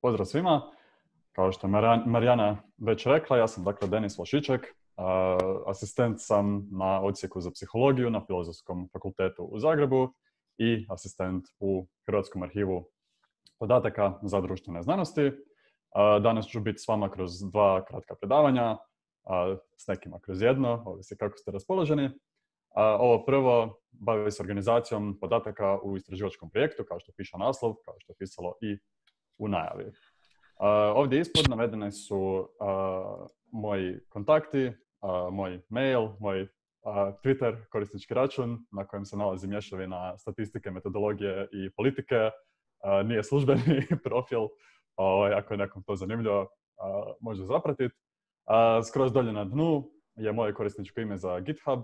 Pozdrav svima. Kao što je Marijana već rekla, ja sam dakle Denis Vlašiček. Asistent sam na odsjeku za psihologiju na Filozofskom fakultetu u Zagrebu i asistent u Hrvatskom arhivu podataka za društvene znanosti. Danas ću biti s vama kroz 2 kratka predavanja, s nekima kroz jedno, ovisi kako ste raspoloženi. Ovo prvo bavi se organizacijom podataka u istraživačkom projektu, kao što piše naslov, kao što je pisalo i u najavi. Ovdje ispod navedene su moji kontakti, moj mail, moj Twitter korisnički račun na kojem se nalazi mješavina statistike, metodologije i politike. Nije službeni profil, ako je nekom to zanimljivo, može zapratiti. Skroz dolje na dnu je moje korisničko ime za GitHub,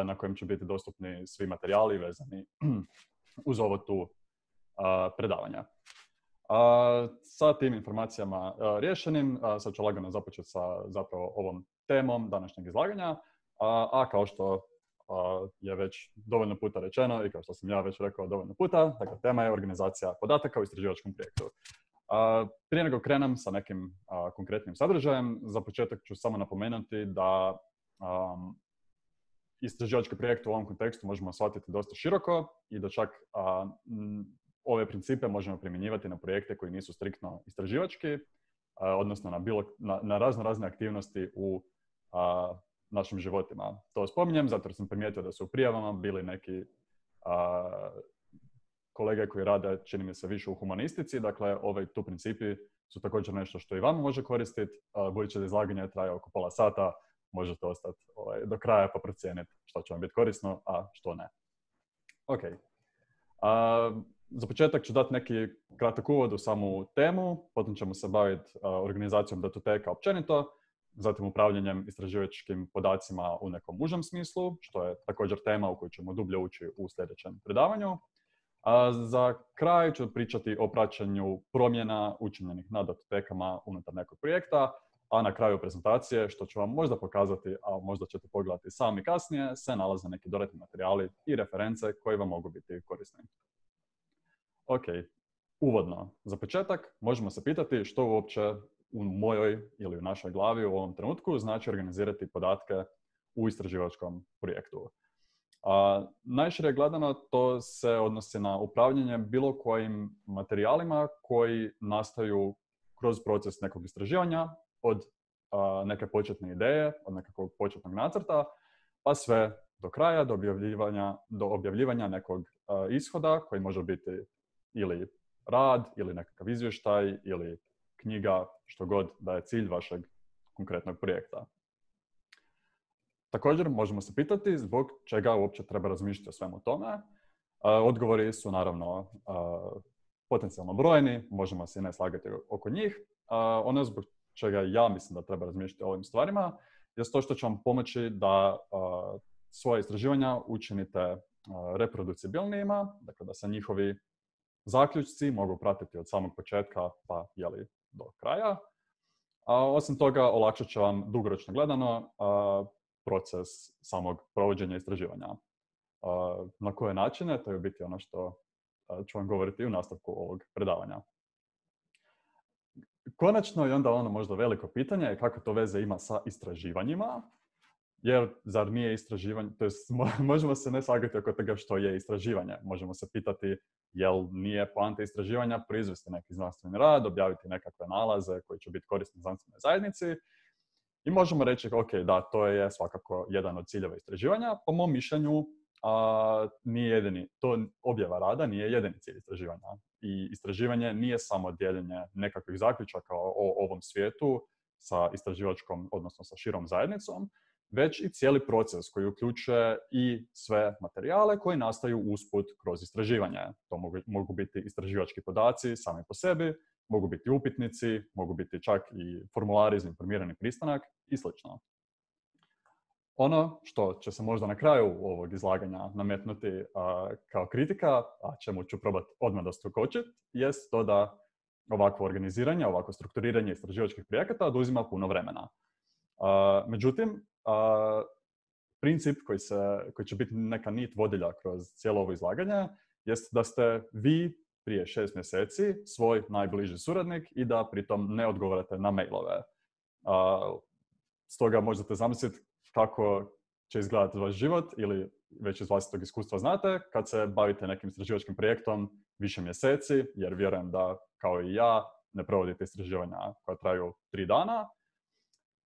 na kojem će biti dostupni svi materijali vezani uz ovo tu predavanja. Sa tim informacijama rješenim, sad ću lagano započeti sa zapravo ovom temom današnjeg izlaganja, a kao što je već dovoljno puta rečeno i kao što sam ja već rekao dovoljno puta, dakle tema je organizacija podataka u istraživačkom projektu. Prije nego krenem sa nekim konkretnim sadržajem, za početak ću samo napomenuti da istraživački projekt u ovom kontekstu možemo shvatiti dosta široko i da čak ove principe možemo primjenjivati na projekte koji nisu striktno istraživački, odnosno na razne aktivnosti u našim životima. To spominjem zato jer sam primijetio da su u prijavama bili neki kolege koji rade, čini mi se, više u humanistici. Dakle, tu principi su također nešto što i vama može koristiti. Budući da izlaganje traje oko pola sata, možete ostati do kraja pa procijeniti što će vam biti korisno, a što ne. Ok. Za početak ću dati neki kratak uvod u samu temu, potom ćemo se baviti organizacijom datoteka općenito, zatim upravljanjem istraživačkim podacima u nekom užem smislu, što je također tema u koju ćemo dublje ući u sljedećem predavanju. Za kraj ću pričati o praćenju promjena učinjenih na datotekama unutar nekog projekta, a na kraju prezentacije, što ću vam možda pokazati, a možda ćete pogledati sami kasnije, se nalaze neki dodatni materijali i reference koji vam mogu biti korisni. Ok, uvodno. Za početak možemo se pitati što uopće u mojoj ili u našoj glavi u ovom trenutku znači organizirati podatke u istraživačkom projektu. Najšire gledano to se odnosi na upravljanje bilo kojim materijalima koji nastaju kroz proces nekog istraživanja od neke početne ideje, od nekakvog početnog nacrta, pa sve do kraja, do objavljivanja nekog ishoda koji može biti ili rad, ili nekakav izvještaj, ili knjiga, što god da je cilj vašeg konkretnog projekta. Također možemo se pitati zbog čega uopće treba razmišljati o svemu tome. Odgovori su naravno potencijalno brojni, možemo se ne slagati oko njih. Ono zbog čega ja mislim da treba razmišljati o ovim stvarima je to što će vam pomoći da svoje istraživanja učinite reproducibilnijima, dakle da se njihovi zaključci mogu pratiti od samog početka pa do kraja. Osim toga, olakšat će vam dugoročno gledano proces samog provođenja istraživanja. Na koje načine, to je u biti ono što ću vam govoriti u nastavku ovog predavanja. Konačno i onda ono možda veliko pitanje je kako to veze ima sa istraživanjima, jer zar nije istraživanje, to jest možemo se ne slagati oko toga što je istraživanje. Možemo se pitati jel nije poanta istraživanja proizvesti neki znanstveni rad, objaviti nekakve nalaze koji će biti korisni znanstvenoj zajednici. I možemo reći, ok, da, to je svakako jedan od ciljeva istraživanja. Po mom mišljenju, nije jedini, to objava rada nije jedini cilj istraživanja. I istraživanje nije samo dijeljenje nekakvih zaključaka o ovom svijetu sa istraživačkom, odnosno sa širom zajednicom, već i cijeli proces koji uključuje i sve materijale koji nastaju usput kroz istraživanje. To mogu biti istraživački podaci sami po sebi, mogu biti upitnici, mogu biti čak i formulari za informirani pristanak i sl. Ono što će se možda na kraju ovog izlaganja nametnuti kao kritika, a čemu ću probati odmah doskočiti, jest to da ovakvo organiziranje, ovakvo strukturiranje istraživačkih projekata oduzima puno vremena. Međutim, princip koji će biti neka nit vodilja kroz cijelo ovo izlaganje jest da ste vi prije 6 mjeseci svoj najbliži suradnik i da pritom ne odgovarate na mailove. Stoga možete zamisliti kako će izgledati vaš život ili već iz vlastitog iskustva znate kad se bavite nekim istraživačkim projektom više mjeseci, jer vjerujem da kao i ja ne provodite istraživanja koja traju 3 dana.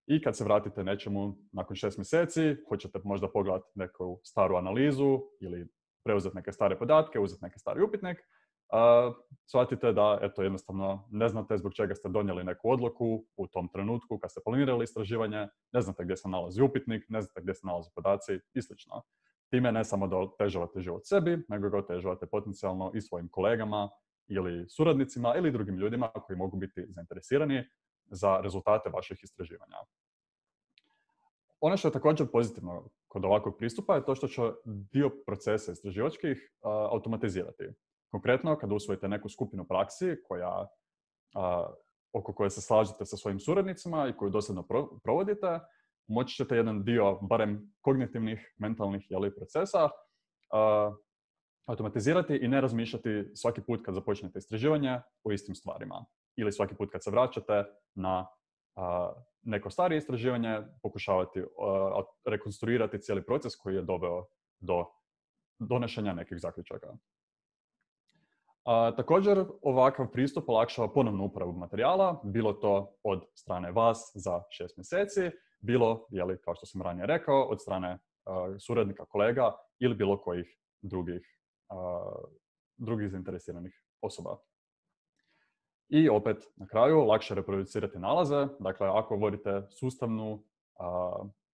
I kad se vratite nečemu nakon 6 mjeseci, hoćete možda pogledati neku staru analizu ili preuzeti neke stare podatke, uzeti neki stari upitnik, shvatite da jednostavno ne znate zbog čega ste donijeli neku odluku u tom trenutku kad ste planirali istraživanje, ne znate gdje se nalazi upitnik, ne znate gdje se nalaze podaci i sl. Time ne samo da otežavate život sebi, nego ga otežavate potencijalno i svojim kolegama ili suradnicima ili drugim ljudima koji mogu biti zainteresirani za rezultate vaših istraživanja. Ono što je također pozitivno kod ovakvog pristupa je to što će dio procesa istraživačkih automatizirati. Konkretno, kada usvojite neku skupinu praksi oko koje se slažete sa svojim suradnicima i koju dosljedno provodite, moći ćete jedan dio, barem kognitivnih, mentalnih procesa, automatizirati i ne razmišljati svaki put kad započnete istraživanje o istim stvarima. Ili svaki put kad se vraćate na neko starije istraživanje, pokušavati rekonstruirati cijeli proces koji je doveo do donošenja nekih zaključaka. Također, ovakav pristup olakšava ponovnu uporabu materijala, bilo to od strane vas za 6 mjeseci, bilo, kao što sam ranije rekao, od strane suradnika, kolega ili bilo kojih drugih zainteresiranih osoba. I opet, na kraju, lakše reproducirati nalaze. Dakle, ako vodite sustavnu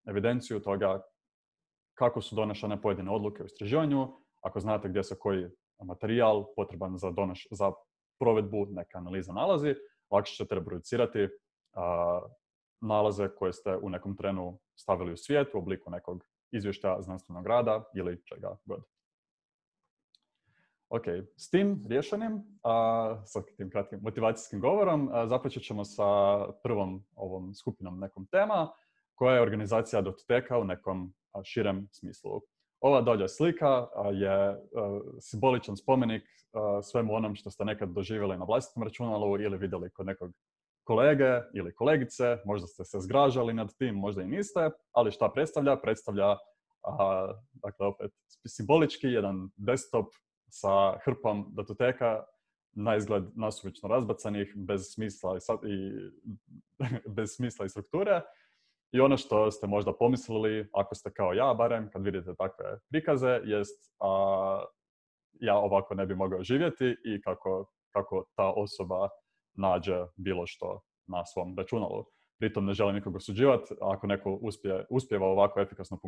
evidenciju toga kako su donošene pojedine odluke u istraživanju, ako znate gdje se koji materijal potreban za provedbu neke analize nalazi, lakše ćete reproducirati nalaze koje ste u nekom trenu stavili u svijet u obliku nekog izvještaja znanstvenog rada ili čega god. Ok, s tim rješenjem, sa tim kratkim motivacijskim govorom, započet ćemo sa prvom ovom skupinom nekom tema, koja je organizacija Datoteka u nekom širem smislu. Ova dolje slika je simboličan spomenik svemu onom što ste nekad doživjeli na vlastitom računalu ili vidjeli kod nekog kolege ili kolegice, možda ste se zgražali nad tim, možda i niste, ali šta predstavlja? Predstavlja, dakle, opet simbolički jedan desktop sa hrpom datoteka, na izgled nasumično razbacanih, bez smisla i strukture. I ono što ste možda pomislili, ako ste kao ja barem, kad vidite takve prikaze, jest ja ovako ne bi mogao živjeti i kako ta osoba nađe bilo što na svom računalu. Pritom ne želim nikog osuđivati. Ako neko uspijeva ovako efikasno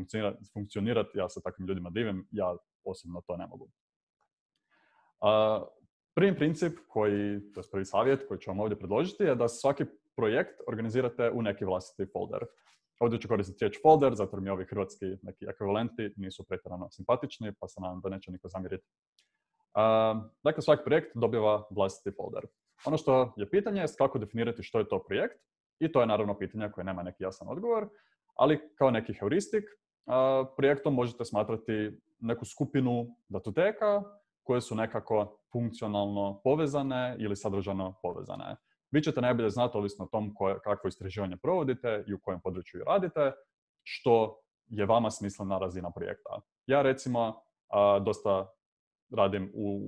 funkcionirati, ja se takvim ljudima divim, ja osobno to ne mogu. Prvi princip prvi savjet koji ću vam ovdje predložiti je da svaki projekt organizirate u neki vlastiti folder. Ovdje ću koristiti riječ folder, zato jer mi ovi hrvatski neki ekvivalenti nisu pretjerano simpatični, pa se nadam da neće niko zamjeriti. Dakle, svaki projekt dobiva vlastiti folder. Ono što je pitanje je kako definirati što je to projekt, i to je naravno pitanje koje nema neki jasan odgovor, ali kao neki heuristik, projektom možete smatrati neku skupinu datoteka koje su nekako funkcionalno povezane ili sadržajno povezane. Vi ćete najbolje znati, ovisno o tom kakvo istraživanje provodite i u kojem području radite, što je vama smislena razina projekta. Ja recimo dosta radim u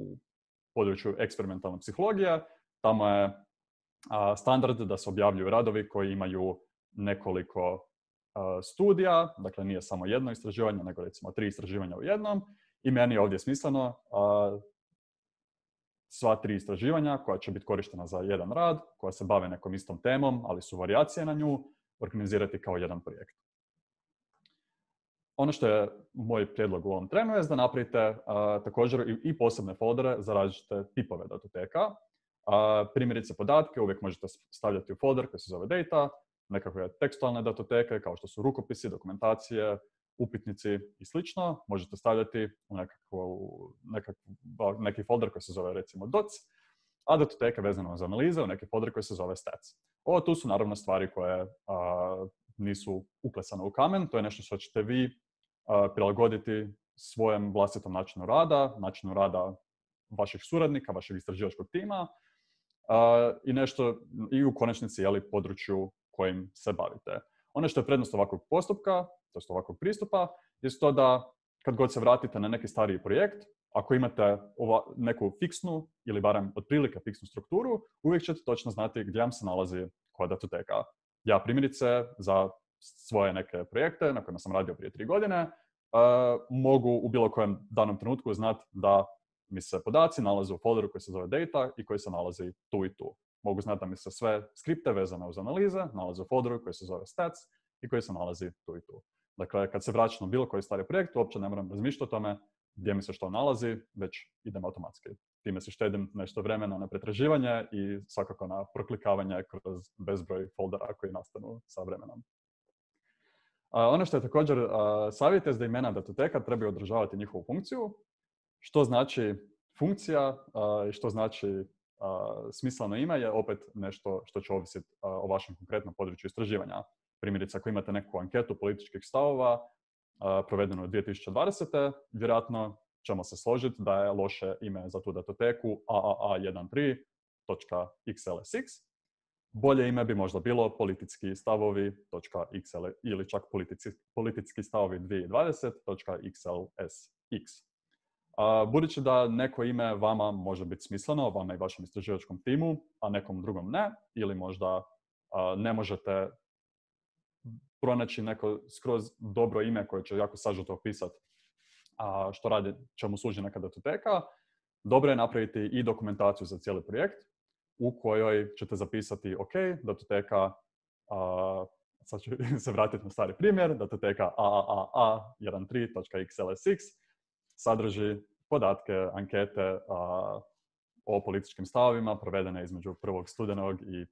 području eksperimentalne psihologije. Tamo je standard da se objavljuju radovi koji imaju nekoliko studija, dakle nije samo jedno istraživanje, nego recimo 3 istraživanja u jednom. I meni je ovdje smisleno sva 3 istraživanja koja će biti korištena za jedan rad, koja se bave nekom istom temom, ali su varijacije na nju, organizirati kao jedan projekt. Ono što je moj prijedlog u ovom trenu je da napravite također i posebne foldere za različite tipove datoteka. Primjerice podatke uvijek možete stavljati u folder koji se zove data, nekakve tekstualne datoteke kao što su rukopisi, dokumentacije, upitnici i slično. Možete stavljati u neki folder koji se zove recimo docs, a datoteke vezano za analize u neki folder koji se zove stats. Ovo tu su naravno stvari koje nisu uklesane u kamen, to je nešto što ćete vi prilagoditi svojem vlastitom načinu rada vaših suradnika, vašeg istraživačkog tima i u konačnici području kojim se bavite. Ono što je prednost ovakvog postupka, to je ovakvog pristupa, je to da kad god se vratite na neki stariji projekt, ako imate neku fiksnu ili barem otprilike fiksnu strukturu, uvijek ćete točno znati gdje vam se nalazi koja datoteka. Ja primjerice za svoje neke projekte na kojima sam radio prije 3 godine mogu u bilo kojem danom trenutku znati da mi se podaci nalaze u folderu koji se zove data i koji se nalazi tu i tu. Mogu znati da mi se sve skripte vezane uz analize nalaze u folderu koji se zove stats i koji se nalazi tu i tu. Dakle, kad se vraćam na bilo koji stari projekt, uopće ne moram razmišljati o tome gdje mi se što nalazi, već idem automatski. Time se štedim nešto vremena na pretraživanje i svakako na proklikavanje kroz bezbroj foldera koji nastanu sa vremenom. Ono što je također savjet je da imena datoteka trebaju održavati njihovu funkciju, što znači funkcija i što znači smisleno ime je opet nešto što će ovisiti o vašem konkretnom području istraživanja. Primjerice, ako imate neku anketu političkih stavova provedenu 2020. vjerojatno ćemo se složiti da je loše ime za tu datoteku aaa13.xlsx. Bolje ime bi možda bilo politički stavovi.xl ili čak politički stavovi 2020.xlsx. Budući da neko ime vama može biti smisleno, vama i vašem istraživačkom timu, a nekom drugom ne, ili možda ne možete pronaći neko skroz dobro ime koje će jako sažeto opisati što radi, čemu služi neka datoteka, dobro je napraviti i dokumentaciju za cijeli projekt u kojoj ćete zapisati ok, datoteka, sad ću se vratiti na stari primjer, datoteka aaa13.xlsx sadrži podatke, ankete o političkim stavovima provedene između 1. studenog i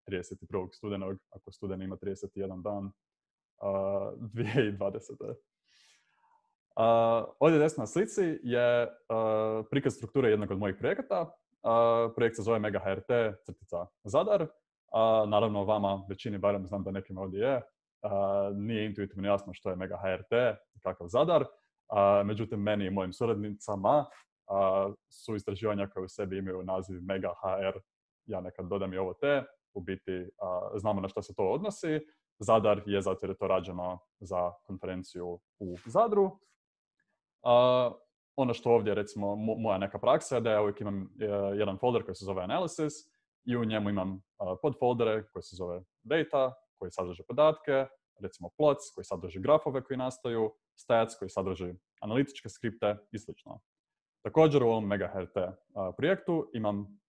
31. studenog, ako studeni ima 31 dan, 2020. Ovdje desno na slici je prikaz strukture jednog od mojih projekata. Projekt se zove MegaHRT-Zadar. Naravno, vama, većini, barem znam da nekim ovdje je, nije intuitivno jasno što je MegaHRT i kakav Zadar. Međutim, meni i mojim suradnicama su istraživanja koje u sebi imaju naziv MegaHR. Ja nekad dodam i ovo te. U biti, znamo na što se to odnosi. Zadar je zato jer je to rađeno za konferenciju u Zadru. Ono što ovdje, recimo, moja neka praksa je da ja uvijek imam jedan folder koji se zove Analysis i u njemu imam podfoldere koji se zove Data, koji sadrže podatke, recimo Plots koji sadrži grafove koji nastaju, Stats koji sadrži analitičke skripte i sl. Također u ovom MegaHRT projektu imam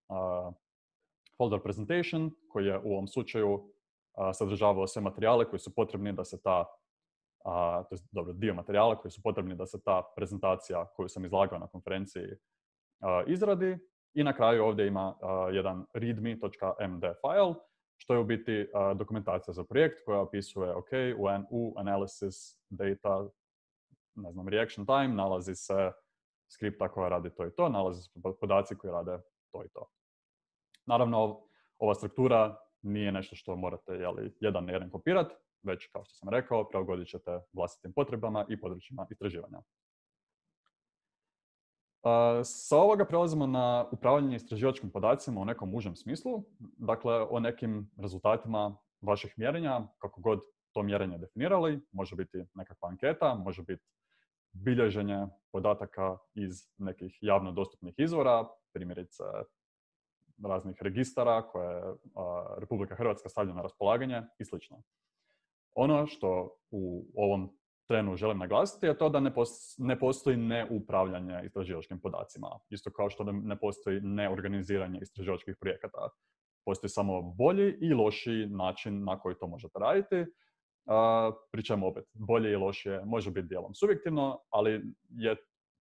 folder Presentation koji je u ovom slučaju sadržavao sve materijale koji su potrebni da se dio materijala koji su potrebni da se ta prezentacija koju sam izlagao na konferenciji izradi. I na kraju ovdje ima jedan readme.md file, što je u biti dokumentacija za projekt koja opisuje u analysis data, reaction time, nalazi se skripta koja radi to i to, nalazi se podaci koji rade to i to. Naravno, ova struktura nije nešto što morate jedan na jedan kopirati, već, kao što sam rekao, prilagodit ćete vlastitim potrebama i područjima istraživanja. Sa ovoga prelazimo na upravljanje istraživačkim podacima u nekom užem smislu, dakle o nekim rezultatima vaših mjerenja, kako god to mjerenje definirali. Može biti nekakva anketa, može biti bilježenje podataka iz nekih javno dostupnih izvora, primjerice raznih registara koje Republika Hrvatska stavlja na raspolaganje i sl. Ono što u ovom trenu želim naglasiti je to da ne postoji neupravljanje istraživačkim podacima. Isto kao što ne postoji neorganiziranje istraživačkih projekata. Postoji samo bolji i lošiji način na koji to možete raditi. Pri čemu opet bolje i lošije može biti dijelom subjektivno, ali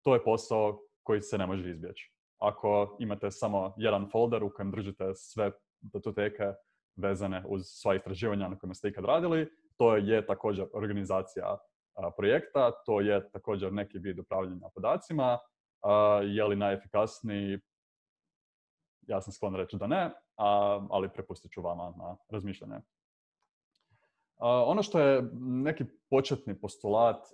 to je posao koji se ne može izbjeći. Ako imate samo jedan folder u kojem držite sve datoteke vezane uz sva istraživanja na kojima ste ikad radili, to je također organizacija projekta, to je također neki vid upravljanja podacima. Je li najefikasniji? Ja sam sklon reći da ne, ali prepustit ću vama na razmišljanje. Ono što je neki početni postulat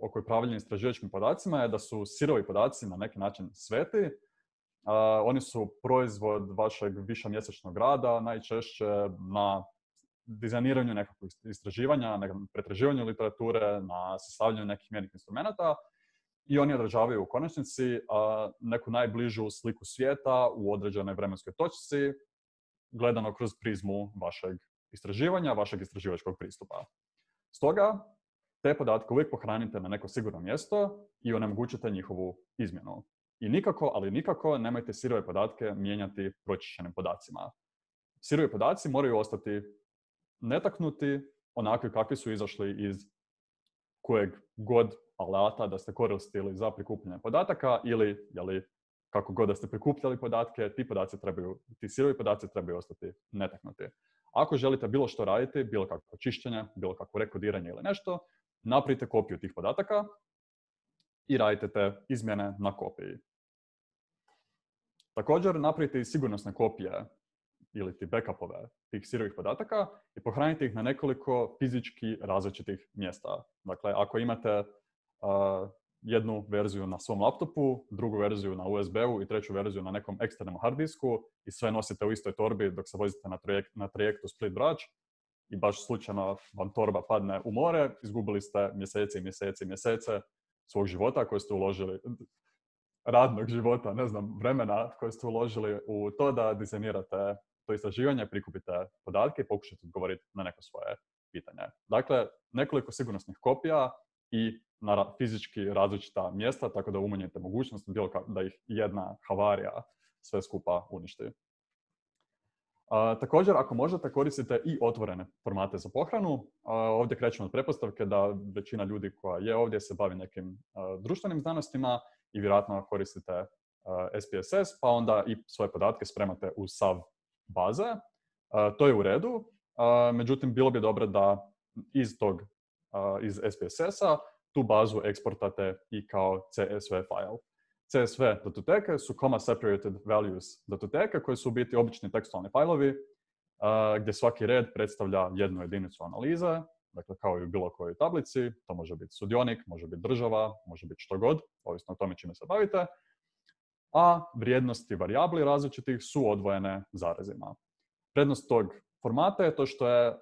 oko upravljanja istraživačkim podacima je da su sirovi podaci na neki način sveti, Oni su proizvod vašeg višemjesečnog rada, najčešće na dizajniranju nekakvog istraživanja, na pretraživanju literature, na sastavljanju nekih mjernih instrumenata i oni odražavaju u konačnici neku najbližu sliku svijeta u određenoj vremenskoj točci, gledano kroz prizmu vašeg istraživanja, vašeg istraživačkog pristupa. Stoga, te podatke uvijek pohranite na neko sigurno mjesto i onemogućite njihovu izmjenu. I nikako, ali nikako, nemojte sirove podatke mijenjati pročišćenim podacima. Sirovi podaci moraju ostati netaknuti, onakvi kakvi su izašli iz kojeg god alata da ste koristili za prikupljanje podataka ili, kako god da ste prikupljali podatke, ti sirovi podaci trebaju ostati netaknuti. Ako želite bilo što raditi, bilo kakvo čišćenje, bilo kakvo rekodiranje ili nešto, napravite kopiju tih podataka i radite te izmjene na kopiji. Također, napravite i sigurnosne kopije ili ti backupove tih sirovih podataka i pohranite ih na nekoliko fizički različitih mjesta. Dakle, ako imate jednu verziju na svom laptopu, drugu verziju na USB-u i treću verziju na nekom eksternom hard disku i sve nosite u istoj torbi dok se vozite na trajektu Split-Brač i baš slučajno vam torba padne u more, izgubili ste mjesece svog života koje ste uložili, radnog života, vremena koje ste uložili u to da dizajnirate to istraživanje, prikupite podatke i pokušate odgovoriti na neko svoje pitanje. Dakle, nekoliko sigurnosnih kopija i na fizički različita mjesta, tako da umanjite mogućnost da ih jedna havarija sve skupa uništi. Također, ako možete, koristite i otvorene formate za pohranu. Ovdje krećemo od pretpostavke da većina ljudi koja je ovdje se bavi nekim društvenim znanostima i vjerojatno koristite SPSS, pa onda i svoje podatke spremate u SAV baze. To je u redu, međutim, bilo bi dobro da iz SPSS-a tu bazu eksportate i kao CSV file. CSV datoteke su comma separated values datoteke koje su u biti obični tekstualni fajlovi gdje svaki red predstavlja jednu jedinicu analize, dakle kao i u bilo kojoj tablici. To može biti sudionik, može biti država, može biti što god, ovisno o tome čime se bavite. A vrijednosti varijabli različitih su odvojene zarezima. Prednost tog formata je to što je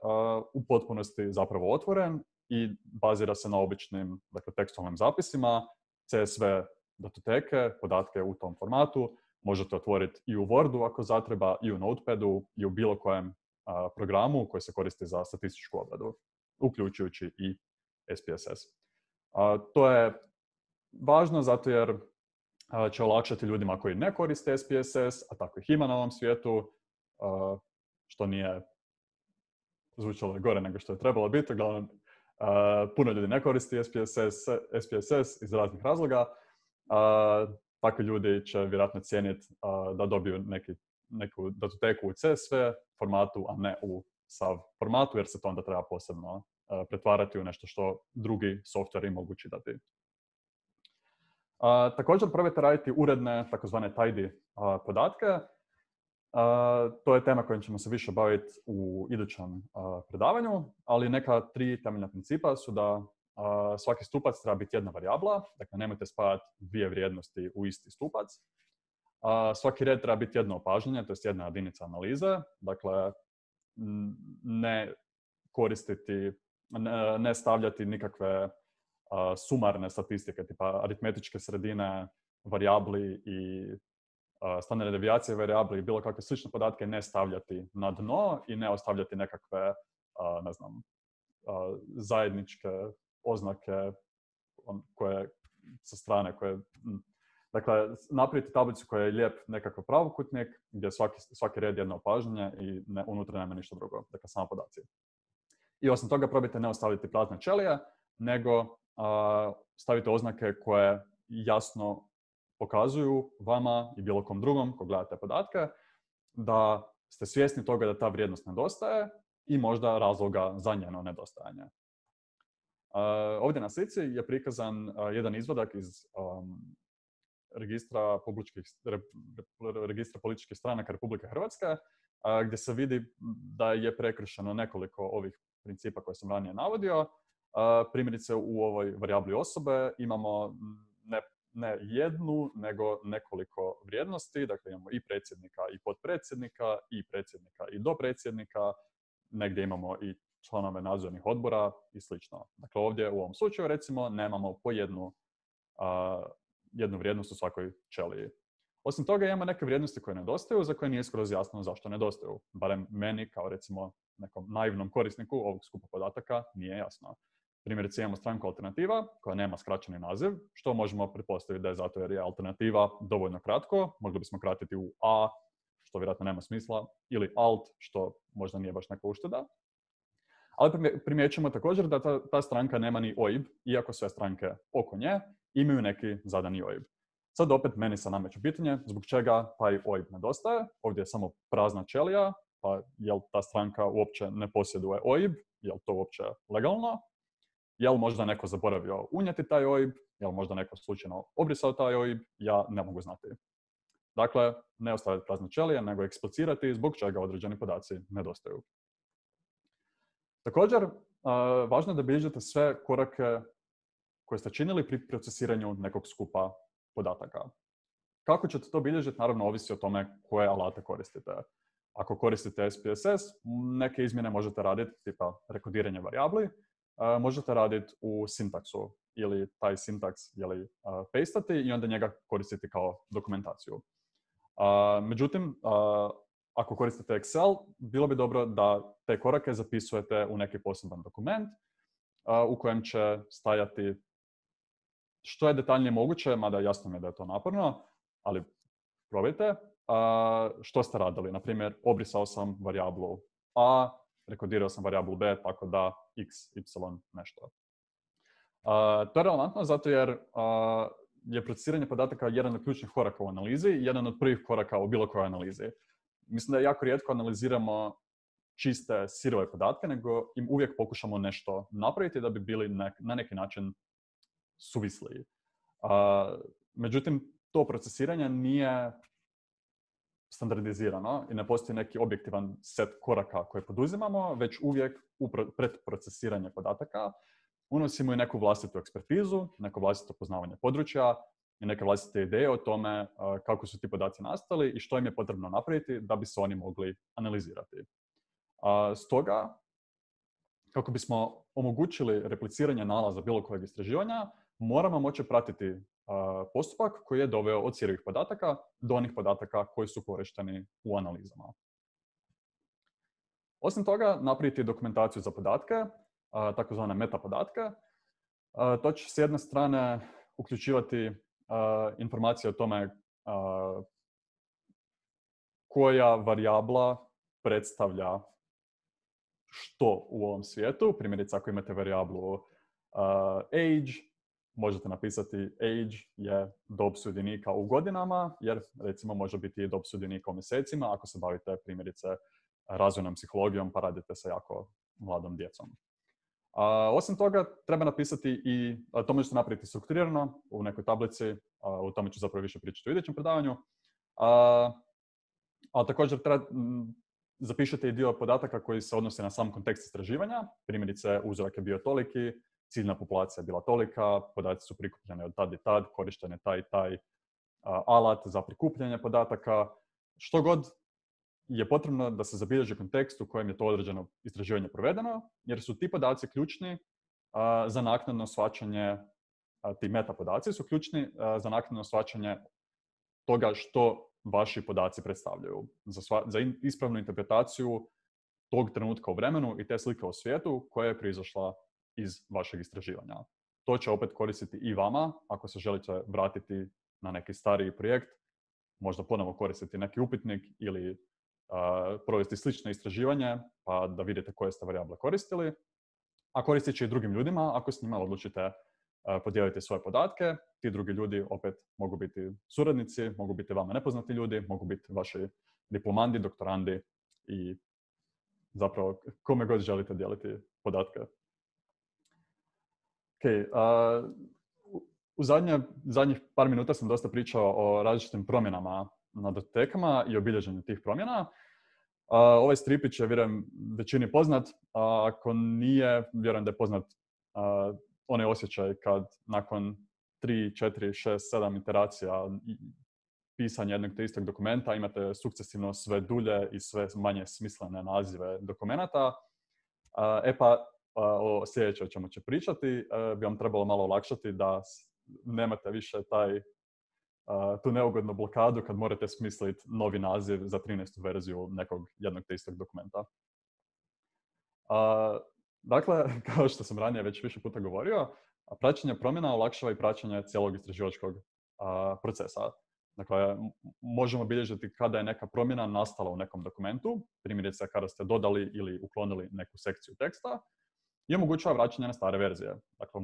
u potpunosti zapravo otvoren i bazira se na običnim tekstualnim zapisima. CSV datoteke, podatke u tom formatu možete otvoriti i u Wordu ako zatreba, i u Notepadu, i u bilo kojem programu koji se koristi za statističku obradu, uključujući i SPSS. To je važno zato jer će olakšati ljudima koji ne koriste SPSS, a tako ih ima na ovom svijetu, što nije zvučalo gore nego što je trebalo biti. Uglavnom, puno ljudi ne koristi SPSS iz raznih razloga. Takvi ljudi će vjerojatno cijeniti da dobiju neku datoteku u CSV formatu, a ne u SAV formatu, jer se to onda treba posebno pretvarati u nešto što drugi softveri mogu čitati. Također probajte raditi uredne, takozvane tidy podatke. To je tema kojom ćemo se više baviti u idućem predavanju, ali neka 3 temeljna principa su da svaki stupac treba biti jedna varijabla, dakle nemojte spajati 2 vrijednosti u isti stupac. Svaki red treba biti jedno opažanje, to je jedna jedinica analize, dakle ne koristiti, ne stavljati nikakve sumarne statistike, tipa aritmetičke sredine varijabli i standardne devijacije varijabli i bilo kakve slične podatke ne stavljati na dno i ne ostavljati nekakve, zajedničke oznake koje sa strane koje... Dakle, napraviti tablicu koja je lijep nekakav pravokutnik gdje svaki red je jedno opažanje i unutra nema ništa drugo, dakle samo podaci. I osim toga probajte ne ostaviti prazne ćelije, nego stavite oznake koje jasno pokazuju vama i bilo kom drugom ko gledate podatke da ste svjesni toga da ta vrijednost nedostaje i možda razloga za njeno nedostajanje. Ovdje na slici je prikazan jedan izvadak iz registra političkih stranaka Republike Hrvatske, gdje se vidi da je prekršeno nekoliko ovih principa koje sam ranije navodio. Primjerice u ovoj varijabli osobe imamo ne jednu, nego nekoliko vrijednosti. Dakle, imamo i predsjednika i potpredsjednika, i predsjednika i dopredsjednika, negdje imamo i članove nadzornih odbora i slično. Dakle, ovdje u ovom slučaju, recimo, nemamo po jednu vrijednost u svakoj ćeliji. Osim toga, imamo neke vrijednosti koje nedostaju, za koje nije skroz jasno zašto nedostaju. Barem meni, kao recimo nekom naivnom korisniku ovog skupa podataka, nije jasno. Primjerice, imamo stranku Alternativa, koja nema skraćeni naziv, što možemo pretpostaviti da je zato jer je Alternativa dovoljno kratko. Mogli bismo kratiti u A, što vjerojatno nema smisla, ili Alt, što možda nije baš neka ušteda. Ali primjećujemo također da ta stranka nema ni OIB, iako sve stranke oko nje imaju neki zadani OIB. Sad opet meni se nameće pitanje zbog čega taj OIB nedostaje. Ovdje je samo prazna ćelija, pa jel ta stranka uopće ne posjeduje OIB, jel to uopće legalno? Jel možda neko zaboravio unijeti taj OIB, jel možda neko slučajno obrisao taj OIB, ja ne mogu znati. Dakle, ne ostaviti prazne ćelije, nego eksplicirati zbog čega određeni podaci nedostaju. Također, važno je da bilježite sve korake koje ste činili pri procesiranju nekog skupa podataka. Kako ćete to bilježiti, naravno, ovisi o tome koje alate koristite. Ako koristite SPSS, neke izmjene možete raditi, tipa rekodiranje varijabli, možete raditi u sintaksu ili taj sintaks pastati i onda njega koristiti kao dokumentaciju. Međutim, ako koristite Excel, bilo bi dobro da te korake zapisujete u neki poseban dokument u kojem će stajati što je detaljnije moguće, mada jasno mi je da je to naporno, ali probajte. Što ste radili? Naprimjer, obrisao sam varijablu A, rekodirao sam varijablu B, tako da x, y, nešto. To je relevantno zato jer je procesiranje podataka jedan od ključnih koraka u analizi i jedan od prvih koraka u bilo kojoj analizi. Mislim da jako rijetko analiziramo čiste, sirove podatke, nego im uvijek pokušamo nešto napraviti da bi bili na neki način suvisliji. Međutim, to procesiranje nije standardizirano i ne postoji neki objektivan set koraka koje poduzimamo, već uvijek pred procesiranje podataka unosimo i neku vlastitu ekspertizu, neko vlastito poznavanje područja i neke vlastite ideje o tome kako su ti podaci nastali i što im je potrebno napraviti da bi se oni mogli analizirati. Stoga, kako bismo omogućili repliciranje nalaza bilo kojeg istraživanja, moramo moći pratiti postupak koji je doveo od sirovih podataka do onih podataka koji su korišteni u analizama. Osim toga, napraviti dokumentaciju za podatke, takozvane meta podatke. To će s jedne strane uključivati informacije o tome koja varijabla predstavlja što u ovom svijetu. Primjerice, ako imate varijablu age, možete napisati age je dob sudionika u godinama, jer recimo može biti i dob sudionika u mjesecima ako se bavite primjerice razvojnom psihologijom pa radite sa jako mladom djecom. Osim toga, treba napisati i, to možete napraviti strukturirano u nekoj tablici, o tome ću zapravo više pričati u idućem predavanju. Ali također zapišete i dio podataka koji se odnose na sam kontekst istraživanja. Primjerice, uzorak je bio toliki, ciljna populacija je bila tolika, podaci su prikupljeni od tad i tad, korišten je taj i taj alat za prikupljanje podataka. Što god je potrebno da se zabilježi kontekst u kojem je to određeno istraživanje provedeno, jer su ti podaci ključni za naknadno shvaćanje, ti meta podaci su ključni za naknadno shvaćanje toga što vaši podaci predstavljaju. Za ispravnu interpretaciju tog trenutka u vremenu i te slike o svijetu koja je proizašla iz vašeg istraživanja. To će opet koristiti i vama ako se želite vratiti na neki stariji projekt, možda ponovo koristiti neki upitnik ili provesti slično istraživanje pa da vidite koje ste varijable koristili, a koristit će i drugim ljudima ako s njima odlučite podijeliti svoje podatke. Ti drugi ljudi opet mogu biti suradnici, mogu biti vama nepoznati ljudi, mogu biti vaši diplomandi, doktorandi i zapravo kome god želite dijeliti podatke. U zadnjih par minuta sam dosta pričao o različitim promjenama na datotekama i obilježenju tih promjena. Ovaj stripić je, vjerujem, većini poznat. Ako nije, vjerujem da je poznat onaj osjećaj kad nakon 3, 4, 6, 7 iteracija pisanja jednog te istog dokumenta, imate sukcesivno sve dulje i sve manje smislene nazive dokumenata. O sljedećoj čemu će pričati, bi vam trebalo malo olakšati da nemate više tu neugodnu blokadu kad morate smisliti novi naziv za 13. verziju nekog jednog te istog dokumenta. Dakle, kao što sam ranije već više puta govorio, praćenje promjena olakšava i praćenje cijelog istraživačkog procesa. Dakle, možemo bilježiti kada je neka promjena nastala u nekom dokumentu, primjerice kada ste dodali ili uklonili neku sekciju teksta, i omogućava vraćanje na stare verzije. Dakle,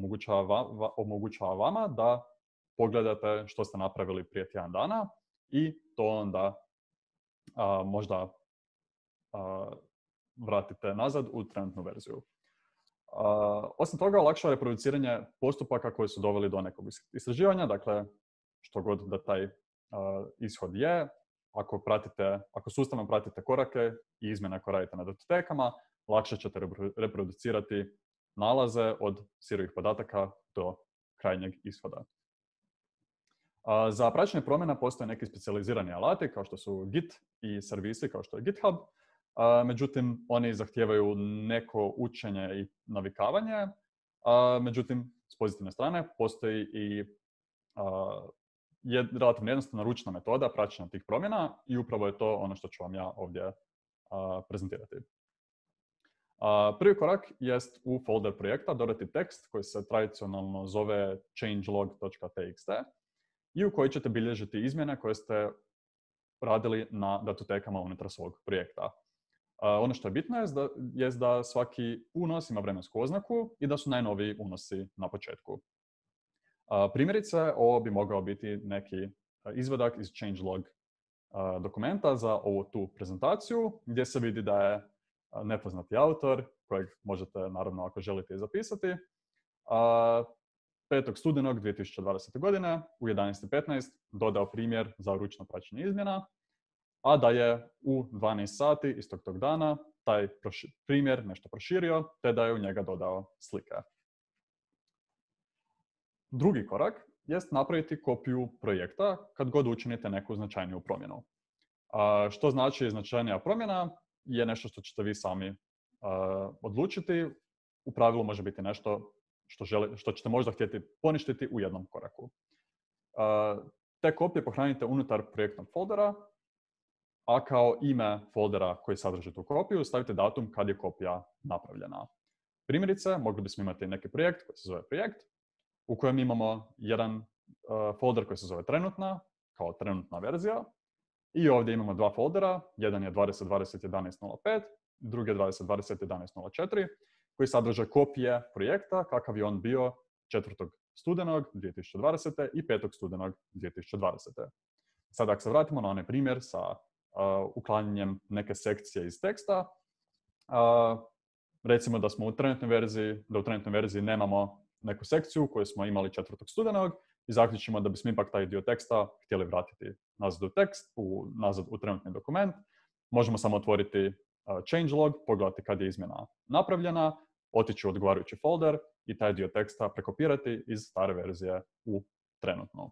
omogućava vama da pogledate što ste napravili prije tjedan dana i to onda možda vratite nazad u trenutnu verziju. Osim toga, olakšava reproduciranje postupaka koji su doveli do nekog istraživanja, dakle, što god da taj ishod je, ako sustavno pratite korake i izmjene koje radite na datotekama, lakše ćete reproducirati nalaze od sirovih podataka do krajnjeg ishoda. Za praćenje promjena postoje neki specijalizirani alati kao što su Git i servisi kao što je GitHub. Međutim, oni zahtijevaju neko učenje i navikavanje. Međutim, s pozitivne strane postoji i relativno jednostavna ručna metoda praćenja tih promjena i upravo je to ono što ću vam ja ovdje prezentirati. Prvi korak jest u folder projekta dodati tekst koji se tradicionalno zove changelog.txt i u koji ćete bilježiti izmjene koje ste radili na datotekama unutar svog projekta. Ono što je bitno jest da svaki unos ima vremensku oznaku i da su najnoviji unosi na početku. Primjerice, ovo bi mogao biti neki izvadak iz changelog dokumenta za ovu tu prezentaciju gdje se vidi da je nepoznati autor, kojeg možete, naravno, ako želite i zapisati, 5. studenog 2020. godine u 11:15 dodao primjer za ručno praćenje izmjena, a da je u 12 sati istog tog dana taj primjer nešto proširio, te da je u njega dodao slike. Drugi korak jest napraviti kopiju projekta kad god učinite neku značajniju promjenu. Što znači značajnija promjena je nešto što ćete vi sami odlučiti. U pravilu može biti nešto što ćete možda htjeti poništiti u jednom koraku. Te kopije pohranite unutar projektnog foldera, a kao ime foldera koji sadrži tu kopiju stavite datum kad je kopija napravljena. Primjerice, mogli bismo imati neki projekt koji se zove projekt, u kojem imamo jedan folder koji se zove trenutna, kao trenutna verzija, i ovdje imamo dva foldera, jedan je 2020.11.05, drugi je 2020.11.04, koji sadrže kopije projekta kakav je on bio 4. studenog 2020. i 5. studenog 2020. Sada, ako se vratimo na onaj primjer sa uklanjanjem neke sekcije iz teksta, recimo da smo u trenutnoj verziji nemamo neku sekciju koju smo imali 4. studenog i zaključimo da bismo ipak taj dio teksta htjeli vratiti nazad u tekst, nazad u trenutni dokument. Možemo samo otvoriti changelog, pogledati kad je izmjena napravljena, otići u odgovarajući folder i taj dio teksta prekopirati iz stare verzije u trenutnu.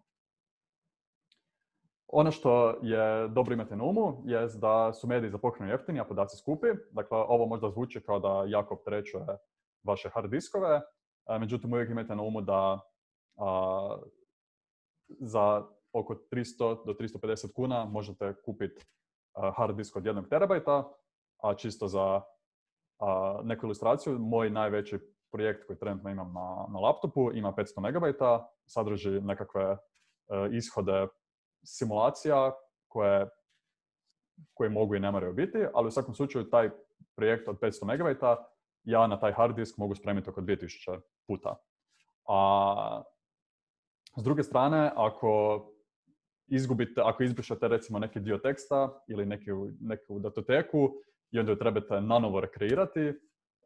Ono što je dobro imati na umu je da su mediji za pohranu jeftini, a podaci skupi. Dakle, ovo možda zvuči kao da jako opterećuje vaše hard diskove, međutim uvijek imajte na umu da za oko 300 do 350 kuna možete kupiti hard disk od 1 terabajta, a čisto za neku ilustraciju, moj najveći projekt koji trenutno imam na laptopu ima 500 megabajta, sadrži nekakve ishode simulacija koje mogu i ne moraju biti, ali u svakom slučaju taj projekt od 500 megabajta ja na taj hard disk mogu spremiti oko 2000 puta. A s druge strane, ako izbrišete recimo neki dio teksta ili neku datoteku i onda ju trebate nanovo rekreirati,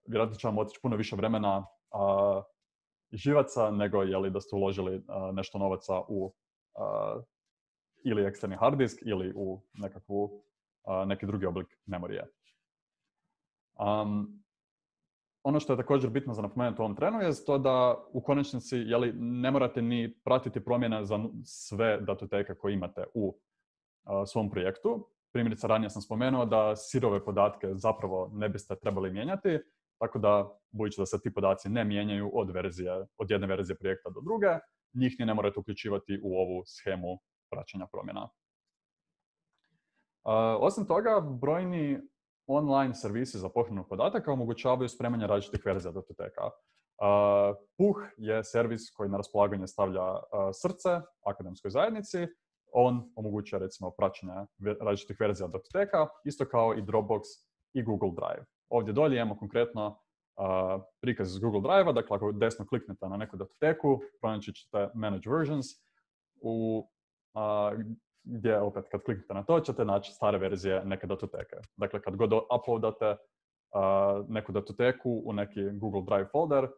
vjerojatno će vam otići puno više vremena i živaca nego da ste uložili nešto novaca u ili eksterni hard disk ili u neki drugi oblik memorije. ono što je također bitno za napomenuti u ovom trenu je to da u konačnici ne morate ni pratiti promjene za sve datoteke koje imate u svom projektu. Primjerice, ranije sam spomenuo da sirove podatke zapravo ne biste trebali mijenjati, tako da, budući da se ti podaci ne mijenjaju od jedne verzije projekta do druge, njih ni ne morate uključivati u ovu shemu praćenja promjena. Osim toga, brojni online servisi za pohranu podataka omogućavaju spremanje različitih verzija datoteka. Puh je servis koji na raspolaganje stavlja srce akademskoj zajednici. On omogućuje, recimo, praćenje različitih verzija datoteka, isto kao i Dropbox i Google Drive. Ovdje dolje imamo konkretno prikaz iz Google Drive-a, dakle ako desno kliknete na neku datoteku, pronaći ćete Manage Versions, gdje opet kad kliknete na to ćete naći stare verzije neke datoteke. Dakle, kad god uploadate neku datoteku u neki Google Drive folder,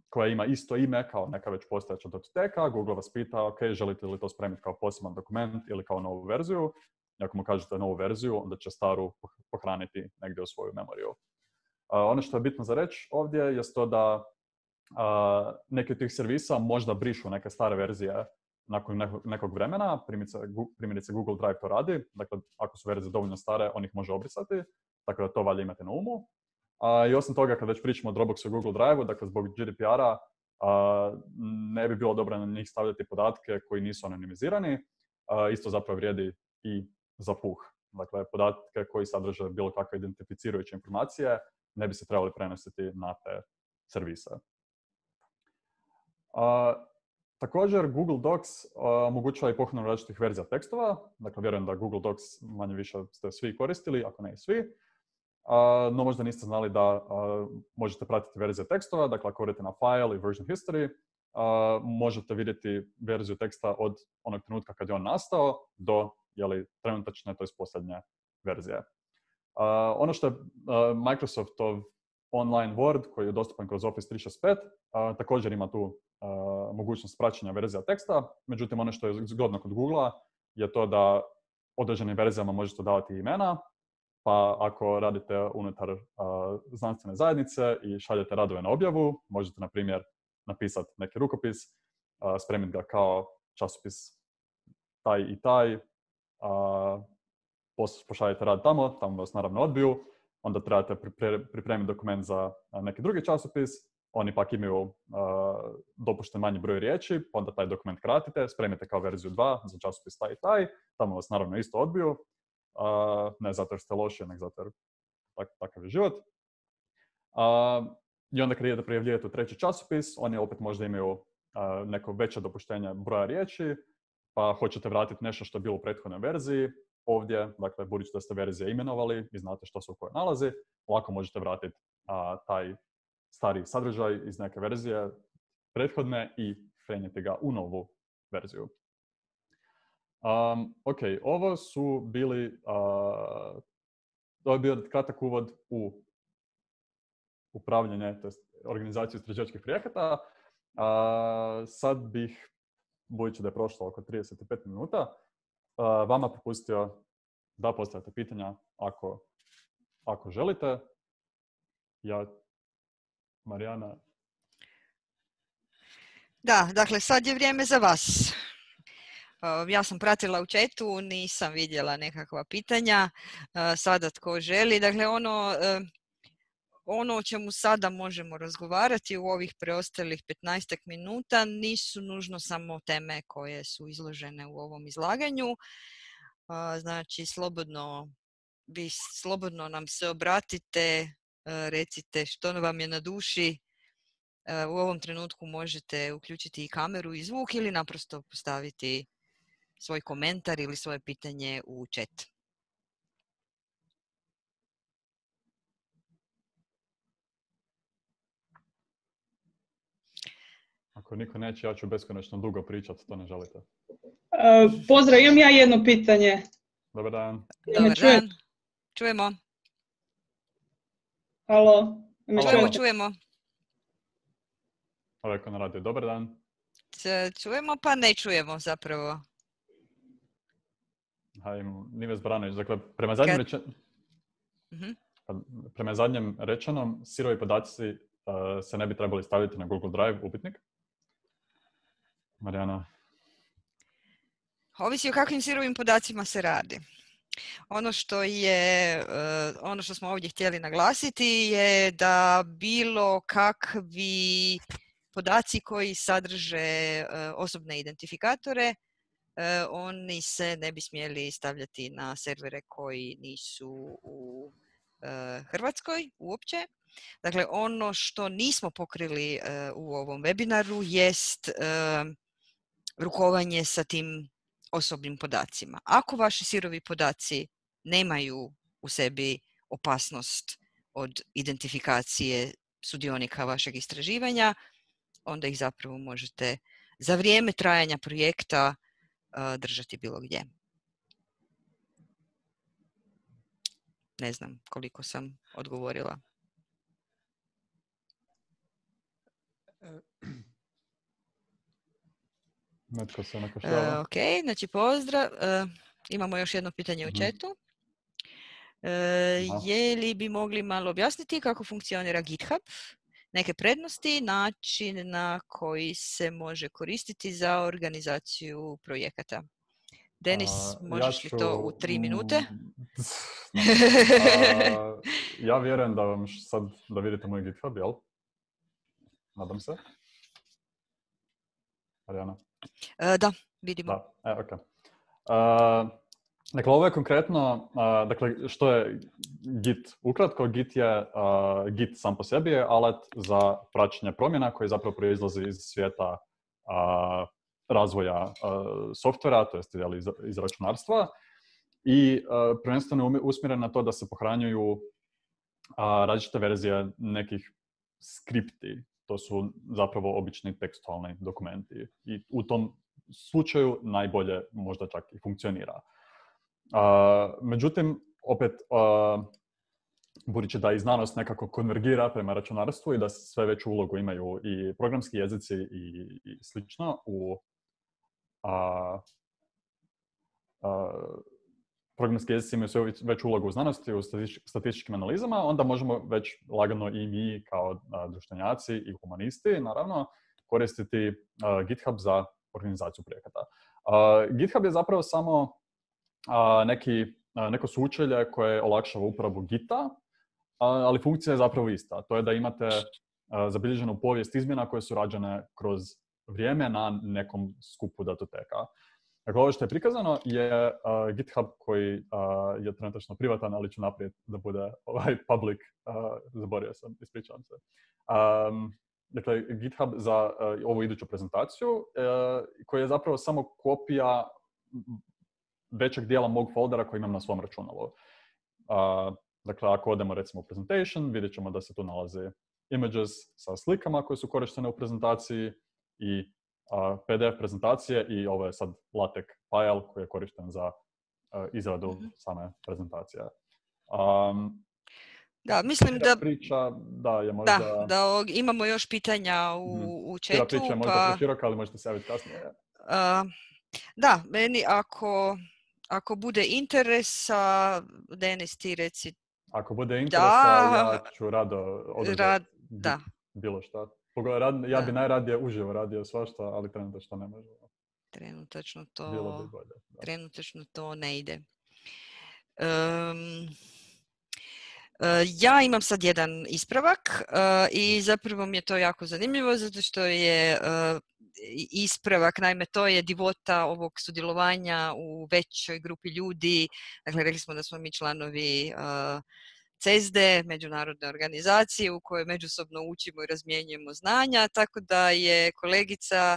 koja ima isto ime kao neka već postojeća datoteka, Google vas pita, ok, želite li to spremiti kao poseban dokument ili kao novu verziju. I ako mu kažete novu verziju, onda će staru pohraniti negdje u svoju memoriju. Ono što je bitno za reći ovdje je to da neki od tih servisa možda brišu neke stare verzije nakon nekog vremena. Primjerice Google Drive to radi. Dakle, ako su verzije dovoljno stare, on ih može obrisati. Tako da to valja imati na umu. I osim toga, kad već pričamo o Dropboxu i Google Drive-u, dakle, zbog GDPR-a ne bi bilo dobro na njih stavljati podatke koji nisu anonimizirani. Isto zapravo vrijedi i za puh. Dakle, podatke koji sadrže bilo kakve identificirajuće informacije ne bi se trebali prenositi na te servise. Također, Google Docs omogućava i pohranu različitih verzija tekstova. Dakle, vjerujem da Google Docs manje više ste svi koristili, ako ne i svi. No možda niste znali da možete pratiti verzije tekstova. Dakle, ako odete na File i Version History, možete vidjeti verziju teksta od onog trenutka kad je on nastao do trenutačne, to je posljednje verzije. Ono što je Microsoftov online Word, koji je dostupan kroz Office 365, također ima tu mogućnost praćenja verzija teksta. Međutim, ono što je zgodno kod Google-a je to da određenim verzijama možete davati imena, pa ako radite unutar znanstvene zajednice i šaljete radove na objavu, možete, na primjer, napisati neki rukopis, spremiti ga kao časopis taj i taj, pošaljete rad tamo vas naravno odbiju, onda trebate pripremiti dokument za neki drugi časopis, oni pak imaju dopušten manji broj riječi, onda taj dokument kratite, spremite kao verziju 2 za časopis taj i taj, tamo vas naravno isto odbiju, ne zato jer ste loši, nego zato jer takav je život. I onda kad idete prijavljivati u treći časopis, oni opet možda imaju neko veće dopuštenje broja riječi, pa hoćete vratiti nešto što je bilo u prethodnoj verziji. Ovdje, dakle, budući da ste verzije imenovali i znate što se u kojoj nalazi, lako možete vratiti taj stari sadržaj iz neke verzije prethodne i prenijeti ga u novu verziju. Ok, ovo je bio kratak uvod u upravljanje, tj. organizaciju istraživačkih projekata. Sad bih, budući da je prošlo oko 35 minuta, vama propustio da postavite pitanja ako želite. Marijana. Da, dakle, sad je vrijeme za vas. Ja sam pratila u chatu, nisam vidjela nekakva pitanja. Sada tko želi. Dakle, ono o čemu sada možemo razgovarati u ovih preostalih 15 minuta nisu nužno samo teme koje su izložene u ovom izlaganju. Znači, slobodno nam se obratite, recite što vam je na duši. U ovom trenutku možete uključiti i kameru i zvuk ili naprosto postaviti svoj komentar ili svoje pitanje u chat. Ako niko neće, ja ću beskonačno dugo pričati, to ne želite. Pozdrav, imam ja jedno pitanje. Dobar dan. Dobar dan. Čujemo. Halo. Čujemo. Rekao na radio, dobar dan. Čujemo pa ne čujemo zapravo. Nives Branović, dakle, prema zadnjim prema zadnjem rečenom, sirovi podaci se ne bi trebali staviti na Google Drive upitnik. Marijana? Ovisi o kakvim sirovim podacima se radi. Ono što smo ovdje htjeli naglasiti je da bilo kakvi podaci koji sadrže osobne identifikatore, oni se ne bi smjeli stavljati na servere koji nisu u Hrvatskoj uopće. Dakle, ono što nismo pokrili u ovom webinaru jest rukovanje sa tim osobnim podacima. Ako vaši sirovi podaci nemaju u sebi opasnost od identifikacije sudionika vašeg istraživanja, onda ih zapravo možete za vrijeme trajanja projekta držati bilo gdje. Ne znam koliko sam odgovorila. Netko se nakašljava. Ok, znači pozdrav. Imamo još jedno pitanje u chatu. Je li bi mogli malo objasniti kako funkcionira GitHub? Neke prednosti, način na koji se može koristiti za organizaciju projekata. Denis, možeš li to u 3 minute? Ja vjerujem da vam sad da vidite moj GitHub, jel? Nadam se. Marijana? Da, vidimo. Da, ok. Dakle, ovo je konkretno, dakle, što je Git? Ukratko, Git je, Git sam po sebi je alat za praćenje promjena koji zapravo proizlazi iz svijeta razvoja softvera, to jest iz računarstva, i prvenstveno je usmjeren na to da se pohranjuju različite verzije nekih skripti. To su zapravo obični tekstualni dokumenti. I u tom slučaju najbolje možda čak i funkcionira. Međutim, opet, budući da i znanost nekako konvergira prema računarstvu i da sve veću ulogu imaju i programski jezici i slično u programski jezici imaju sve veću ulogu u znanosti, u statističkim analizama, onda možemo već lagano i mi kao društvenjaci i humanisti, naravno, koristiti GitHub za organizaciju projekata. GitHub je zapravo samo neko sučelje koje olakšava uporabu Gita, ali funkcija je zapravo ista. To je da imate zabilježenu povijest izmjena koje su rađene kroz vrijeme na nekom skupu datoteka. Dakle, ovo što je prikazano je GitHub koji je trenutačno privatan, ali ću naprijed da bude public. Zaboravio sam, ispričavam se. Dakle, GitHub za ovu iduću prezentaciju, koji je zapravo samo kopija većeg dijela mog foldera koji imam na svom računalu. Dakle, ako odemo recimo u presentation, vidjet ćemo da se tu nalaze images sa slikama koje su korištene u prezentaciji i PDF prezentacije i ovo je sad LaTeX file koji je korišten za izradu same prezentacije. Da, mislim da priča, da je možda... Da imamo još pitanja u chatu. Priča je možda preširoka, ali možete se javiti kasnije. Da, meni ako bude interesa, Denis, ti reci. Ako bude interesa, ja ću rado održati bilo šta. Ja bi najradije uživo radio svašta, ali trenutačno ne može. Trenutačno to ne ide. Ja imam sad jedan ispravak i zapravo mi je to jako zanimljivo zato što je ispravak, naime to je divota ovog sudjelovanja u većoj grupi ljudi. Dakle, rekli smo da smo mi članovi CESDE, međunarodne organizacije u kojoj međusobno učimo i razmjenjujemo znanja, tako da je kolegica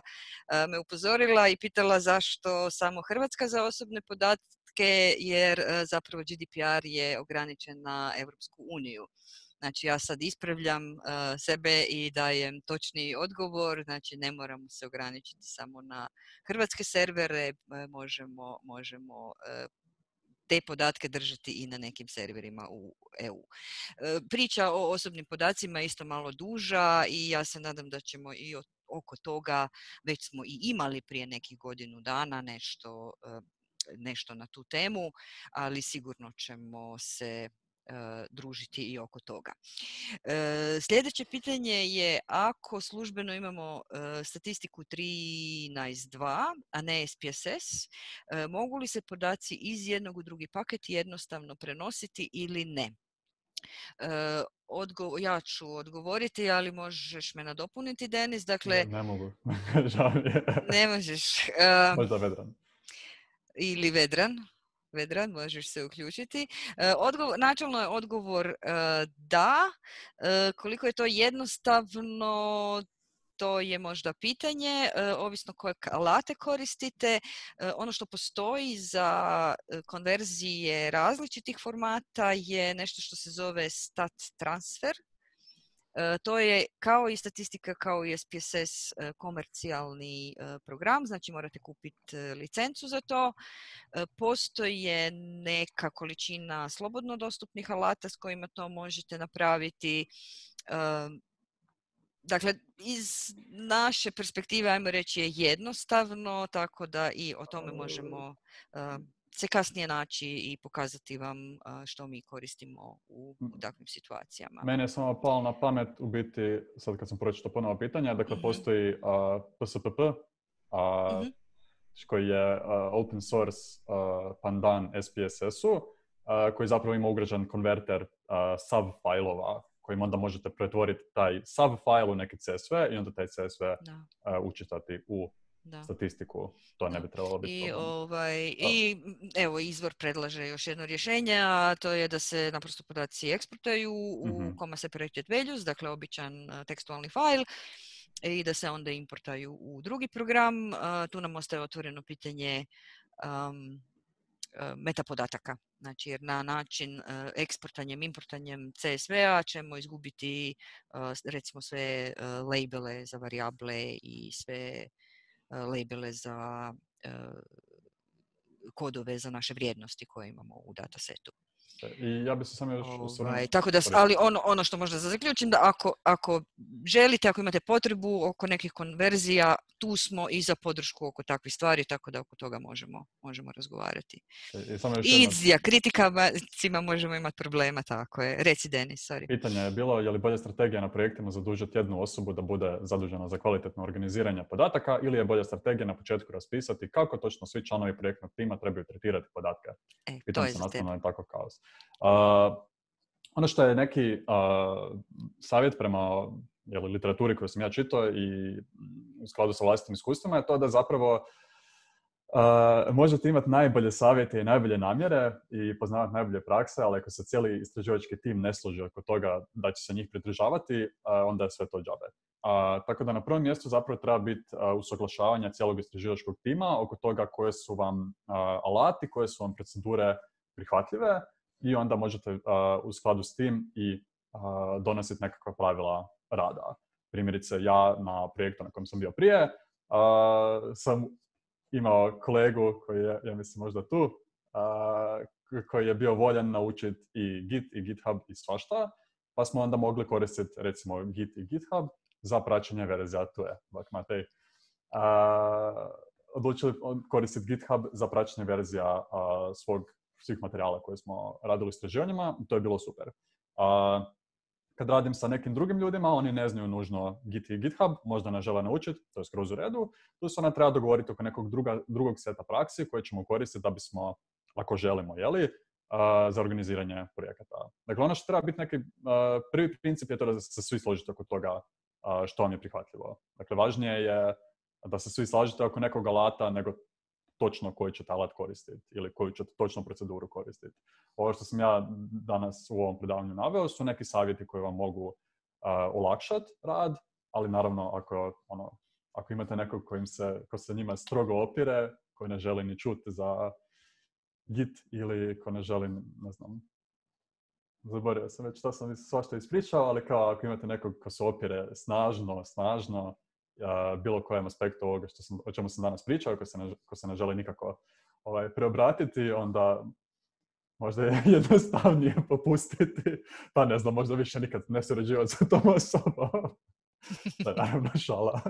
me upozorila i pitala zašto samo Hrvatska za osobne podatke, jer zapravo GDPR je ograničen na Europsku uniju. Znači ja sad ispravljam sebe i dajem točni odgovor, znači ne moramo se ograničiti samo na hrvatske servere, možemo te podatke držati i na nekim serverima u EU. Priča o osobnim podacima je isto malo duža i ja se nadam da ćemo i oko toga, već smo i imali prije nekih godinu dana nešto na tu temu, ali sigurno ćemo se družiti i oko toga. Sljedeće pitanje je, ako službeno imamo statistiku 13.2, a ne SPSS, mogu li se podaci iz jednog u drugi paket jednostavno prenositi ili ne? Ja ću odgovoriti, ali možeš me nadopuniti, Denis. Dakle, ne mogu. Žao mi je. Ne možeš. Možda Vedran. Ili Vedran, možeš se uključiti. Načelno je odgovor da. Koliko je to jednostavno, to je možda pitanje, ovisno koje alate koristite. Ono što postoji za konverzije različitih formata je nešto što se zove stat transfer. To je kao i statistika, kao i SPSS komercijalni program, znači morate kupiti licencu za to. Postoje neka količina slobodno dostupnih alata s kojima to možete napraviti. Dakle, iz naše perspektive, ajmo reći, je jednostavno, tako da i o tome možemo se kasnije naći i pokazati vam što mi koristimo u takvim situacijama. Mene je samo palo na pamet, u biti, sad kad sam pročitao ponovo pitanja, dakle postoji PSPP, koji je open source pandan SPSS-u, koji zapravo ima ugrađen konverter SAV fajlova, kojim onda možete pretvoriti taj SAV fajl u neki CSV i onda taj CSV učitati u statistiku. To ne bi trebalo biti I evo, izvor predlaže još jedno rješenje, a to je da se naprosto podaci eksportaju u comma separated values, dakle običan tekstualni fajl, i da se onda importaju u drugi program. Tu nam ostaje otvoreno pitanje metapodataka. Znači, jer na način eksportanjem, importanjem CSV-a ćemo izgubiti recimo sve labele za varijable i sve labele za kodove za naše vrijednosti koje imamo u datasetu. I ja bih se samo još osvrnuo. Tako da, ali ono što možda zaključim, da ako želite, ako imate potrebu oko nekih konverzija, tu smo i za podršku oko takvih stvari, tako da oko toga možemo razgovarati. I s dijakritikama možemo imati problema, tako je. Reci, Denis, sorry. Pitanje je bilo, je li bolja strategija na projektima zadužiti jednu osobu da bude zadužena za kvalitetno organiziranje podataka, ili je bolja strategija na početku raspisati kako točno svi članovi projektnog tima trebaju tretirati podatke? Pitanje se nastavno je tako kaos. Ono što je neki savjet prema literaturi koju sam ja čitao i u skladu sa vlastitim iskustvima je to da zapravo možete imati najbolje savjete i najbolje namjere i poznavati najbolje prakse, ali ako se cijeli istraživački tim ne složi oko toga da će se njih pridržavati, onda je sve to džabe. Tako da na prvom mjestu zapravo treba biti usuglašavanje cijelog istraživačkog tima oko toga koje su vam alati, koje su vam procedure prihvatljive, i onda možete u skladu s tim i donositi nekakva pravila rada. Primjerice, ja na projektu na kojem sam bio prije sam imao kolegu koji je, ja mislim, možda tu, koji je bio voljan naučiti i Git i GitHub i svašta, pa smo onda mogli koristiti recimo Git i GitHub za praćenje verzija. Tu je, Matej. Odlučili koristiti GitHub za praćenje verzija svih materijala koje smo radili u istraživanjima, to je bilo super. Kad radim sa nekim drugim ljudima, oni ne znaju nužno Git i GitHub, možda ne žele naučiti, to je skroz u redu. Tu se onda treba dogovoriti oko nekog drugog seta praksi koje ćemo koristiti da bismo, ako želimo, za organiziranje projekata. Dakle, ono što treba biti neki prvi princip je to da se svi složite oko toga što vam je prihvatljivo. Dakle, važnije je da se svi slažete oko nekog alata nego točno koji ćete alat koristiti ili koju ćete točno proceduru koristiti. Ovo što sam ja danas u ovom predavanju naveo su neki savjeti koji vam mogu olakšati rad, ali naravno ako imate nekog ko se njima strogo opire, koji ne želi ni čuti za Git ili ko ne želi, ne znam, zaboravio sam već što sam svašta ispričao, ali kao ako imate nekog ko se opire snažno, bilo kojem aspektu ovoga o čemu sam danas pričao, ko se ne želi nikako preobratiti, onda možda je jednostavnije popustiti, pa ne znam, možda više nikad ne surađivati sa tom osobom. Da, naravno, šala.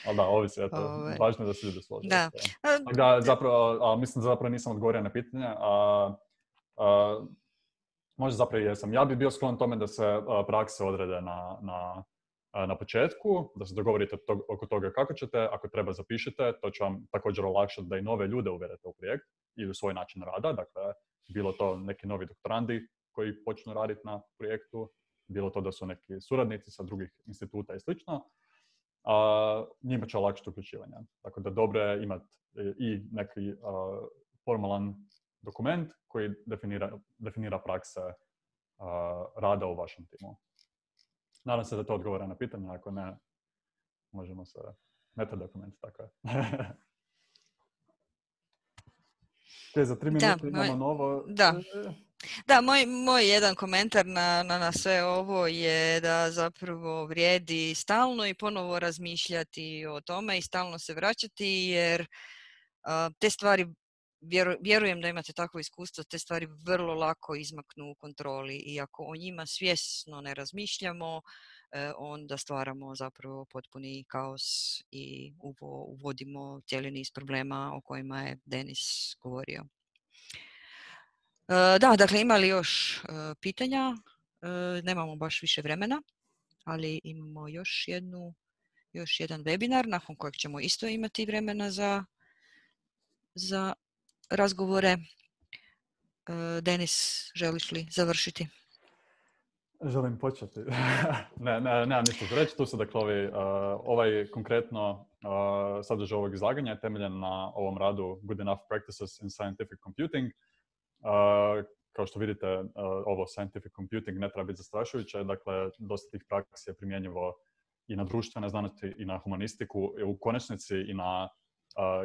Ali da, ovisi, važno je da se ljudi slože. Da, zapravo, mislim da zapravo nisam odgovorio na pitanje. Možda zapravo jesam. Ja bi bio sklon tome da se prakse odrede na početku, da se dogovorite oko toga kako ćete, ako treba zapišite, to će vam također olakšati da i nove ljude uvedete u projekt i u svoj način rada, dakle, bilo to neki novi doktorandi koji počnu raditi na projektu, bilo to da su neki suradnici sa drugih instituta i slično, njima će olakšati uključivanje. Tako da dobro je imati i neki formalan dokument koji definira prakse rada u vašem timu. Nadam se da to odgovara na pitanje, ako ne, možemo se metadokument, tako je. Za 3 minute imamo novo... Da, moj jedan komentar na sve ovo je da zapravo vrijedi stalno i ponovo razmišljati o tome i stalno se vraćati, jer te stvari, vjerujem da imate takvo iskustvo, te stvari vrlo lako izmaknu u kontroli i ako o njima svjesno ne razmišljamo, onda stvaramo zapravo potpuni kaos i uvodimo cijeli niz problema o kojima je Denis govorio. Da, dakle, ima li još pitanja? Nemamo baš više vremena, ali imamo još jedan webinar nakon kojeg ćemo isto imati vremena za razgovore. Denis, želiš li završiti? Želim početi. Nemam ništa za reći. Tu se dakle ovaj konkretno sadržaj ovog izlaganja je temeljen na ovom radu Good Enough Practices in Scientific Computing. Kao što vidite, ovo scientific computing ne treba biti zastrašujuće. Dakle, dosta tih praksi je primjenjivo i na društvene znanosti i na humanistiku, i u konačnici i na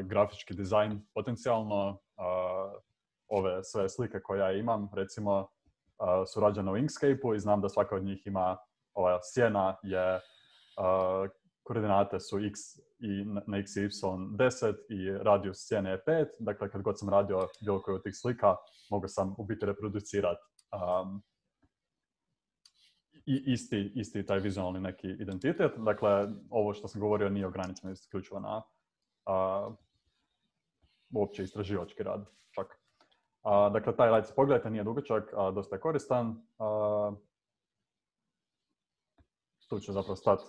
grafički dizajn potencijalno. Ove sve slike koje ja imam, recimo, su rađene u Inkscape-u i znam da svaka od njih ima, ova sjena je, koordinate su x i na x i y 10 i radijus sjene je 5. Dakle, kad god sam radio bilo koju od tih slika, mogu sam u biti reproducirati isti taj vizualni neki identitet. Dakle, ovo što sam govorio nije ograničeno isključivo na uopće istraživački rad. Čak. Dakle, taj rad, pogledajte, nije dugačak, dosta je koristan. Tu ću zapravo stati